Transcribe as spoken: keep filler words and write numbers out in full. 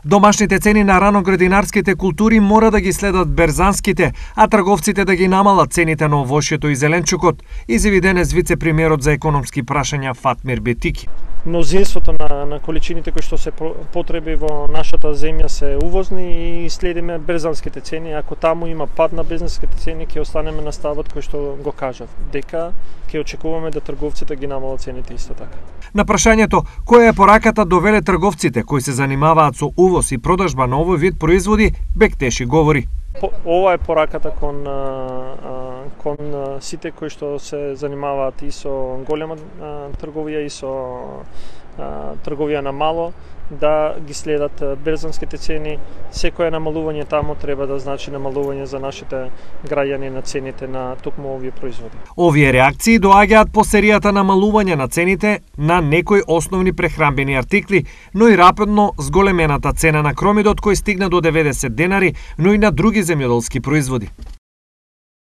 Домашните цени на раноградинарските култури мора да ги следат берзанските, а трговците да ги намалат цените на овошјето и зеленчукот, изјави денес вице-премиерот за економски прашања Фатмир Бетики. Мнозинството на, на количините кои што се потреби во нашата земја се увозни и следиме берзанските цени. Ако таму има пад на берзанските цени, ќе останеме на ставот кој што го кажав, дека ќе очекуваме да трговците ги намалат цените исто така. На прашањето која е пораката довеле трговците кои се занимаваат со увоз и продажба на овој вид производи, Бектеши говори. По, ова е пораката кон кон сите кои што се занимаваат и со голема трговија и со трговија на мало, да ги следат берзанските цени. Секое намалување таму треба да значи намалување за нашите граѓани на цените на токму овие производи. Овие реакции доаѓаат по серијата намалување на цените на некои основни прехранбени артикли, но и рапидно зголемената цена на кромидот кој стигна до деветдесет денари, но и на други земјоделски производи.